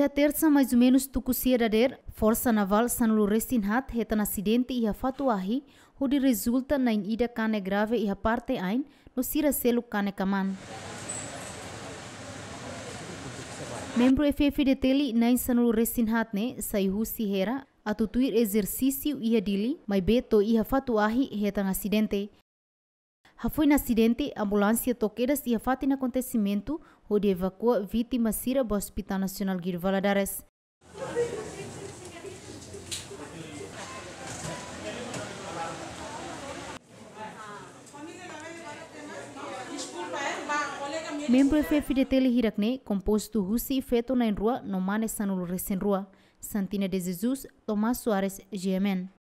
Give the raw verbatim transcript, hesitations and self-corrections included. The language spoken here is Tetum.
Tersa, mais ou menus tuku sia dadeer, Forsa Naval sanulu resin haat hetan asidente iha Fatuahi, hodi rezulta na'in ida kanek grave iha parte ain, no sira seluk kanek aman. Membru F-FDTL na'in sanulu resin haat ne'e sai husi Hera atu tuir ezersísiu iha Dili, maibé to'o iha Fatuahi hetan asidente. Hafoin asidente, ambulánsia to'o kedas iha fatin akontesimentu, hodi evakua vítima sira ba Hospital Nasionál Guido Valadares. Membru F-FDTL hirak ne'e kompostu husi feto na'in rua no mane sanulu resin rua. Santina de Jesus, Tomás Soares, G M N.